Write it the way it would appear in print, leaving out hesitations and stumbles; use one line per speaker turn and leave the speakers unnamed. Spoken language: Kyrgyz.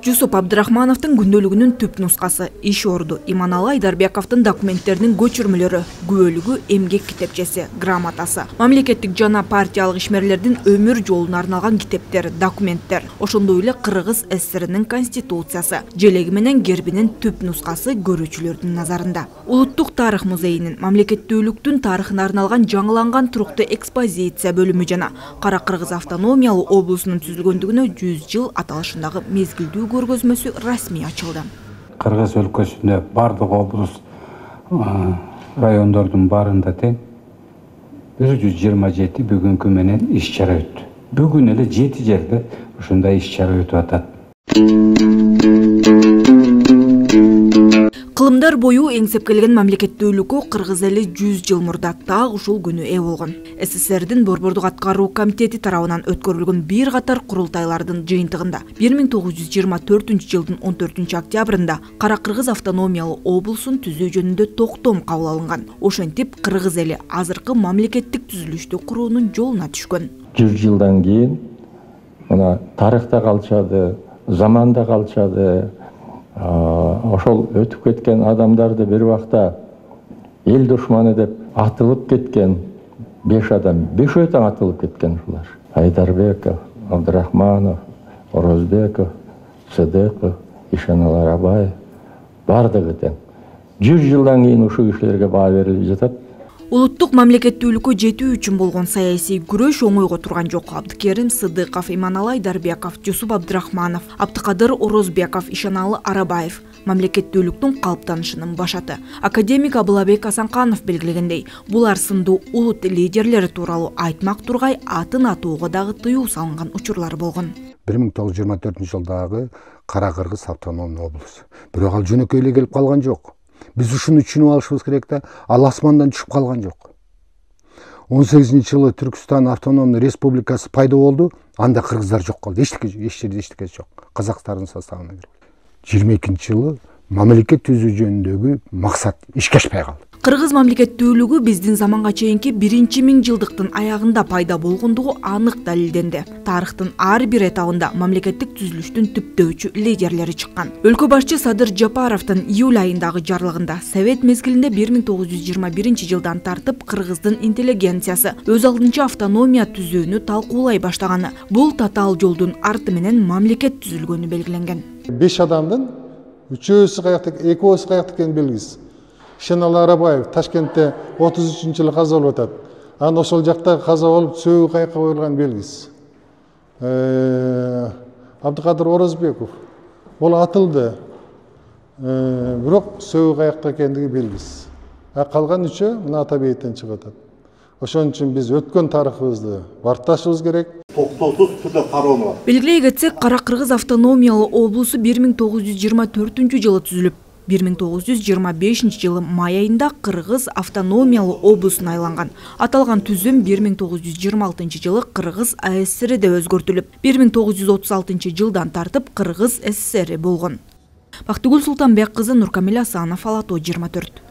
Жусуп Абдрахмановдун күндөлүгүнүн түп нускасы, иш орду Иманалы Айдарбековдун документтеринин көчүрмөлөрү, күбөлүгү, эмгек китепчеси, грамотасы, мамлекеттик жана партиялык ишмерлердин өмүр жолуна арналган китептер, документтер, ошондой эле Кыргыз ССРнин конституциясы, желеги менен гербинин түп нускасы көрүүчүлөрдүн назарында. Улуттук тарых музейинин мамлекеттүүлүктүн тарыхына арналган жаңыланган туруктуу экспозиция бөлүмү жана Кара Кыргыз автономиялуу облусунун түзүлгөндүгүнө 100 жыл аталышындагы мезгилдүү көргөзмөсү расмий ачылды.
Кыргыз өлкөсүндө бардык облус райондордун баарында тең 127 бүгүнкү менен иш-чара өттү. Бүгүн эле 7 жерде ушундай иш-чара өтүп атат.
Кылымдар бою эңсеп келген мамлекеттүүлүккө Кыргыз эли 100 жыл мурда так ушул күнү ээ болгон. СССРдин Борбордук аткаруу комитети тарабынан өткөрүлгөн бир катар курултайлардын жыйынтыгында 1924 жылдын 14 октябрында Кара Кыргыз автономиялуу облусун түзүү жөнүндө токтом кабыл алынган. Ошентип Кыргыз эли азыркы мамлекеттик түзүлүштү куруунун жолуна түшкөн.
100 жылдан кийин мына тарыхта калышады, заманда калышады. Ошол өтүп кеткен адамдарды бир убакта эл душманы деп атылып кеткен 5 адам, бешөөтөн атылып кеткен ушулар. Айдарбеков, Абдрахманов, Орозбеков, Сыдыков, Ишеналы Арабаев бардыгы тең. 100 жылдан кийин ушул кишилерге баа берилип жатат.
Улуттук мамлекеттүүлүккө жетүү үчүн болгон саясий күрөш оңойго турган жок. Абдыкерим Сыдыков, Иманалы Айдарбеков, Жусуп Абдрахманов, Абдыкадыр Орозбеков, Ишеналы Арабаев мамлекеттүүлүктүн калыптанышынын башаты. Академик Абылабек Асанканов белгилегендей, булар сындуу улут лидерлери тууралуу айтмак тургай атын атууга дагы тыюу салынган учурлар болгон.
1924 жылдагы Кара Кыргыз автономдуу облус. Бирок ал жөнөкөй эле келип калган жок. Биз ушуну түшүнүп алышыбыз керек да, ал асмандан түшүп калган жок. 18-жылы Түркстан автономдуу республикасы пайда болду, анда кыргыздар жок калды. Эч жерде эчтеке жок. Казакстандын составына кирди. 22-жылы мамлекет түзүү жөнүндөгү максат ишке ашпай калды.
Кыргыз мамлекеттүүлүгү биздин заманга чейинки 1-1000 жылдыктын аягында пайда болгондугу анык далилденди. Тарыхтын ар бир этабында мамлекеттик түзүлүштүн түптөөчү лидерлери чыккан. Өлкө башчы Садыр Жапаровдун июль айындагы жарлыгында Совет мезгилинде 1921 жылдан тартып Кыргыздын интеллигенциясы өз алдынча автономия түзүүнү талкуулай баштаганы, бул татаал жолдун арты менен мамлекет түзүлгөнү белгиленген.
5 адамдын 3-өөсү каякта, 2-өөсү каякта экени белгисиз. Ишеналы Арабаев Ташкентте 33-жылы каза болуп атат. Аны ошол жакта каза болуп сөөгү каякка коюлган белгисиз. Абдыкадыр Орозбеков бул атылды. Бирок сөөгү каякта экендиги белгисиз. Калган 3-өө мына ата бейиттен чыгып атат. Ошон үчүн биз өткөн тарыхыбызды барташыбыз керек.
Токтоосуз түрдө кароону.
Белгилей кетсек, Кара Кыргыз автономиялуу облусу 1924 жылы түзүлүп, 1925 жылы май айында Кыргыз автономиялуу облусуна айланган. Аталган түзүм 1926 жылы Кыргыз АССРде өзгөртүлүп, 1936 жылдан тартып Кыргыз ССР болгон. Бактыгүл Султанбек кызы, Нуркамил Асанов, Ала Тоо 24.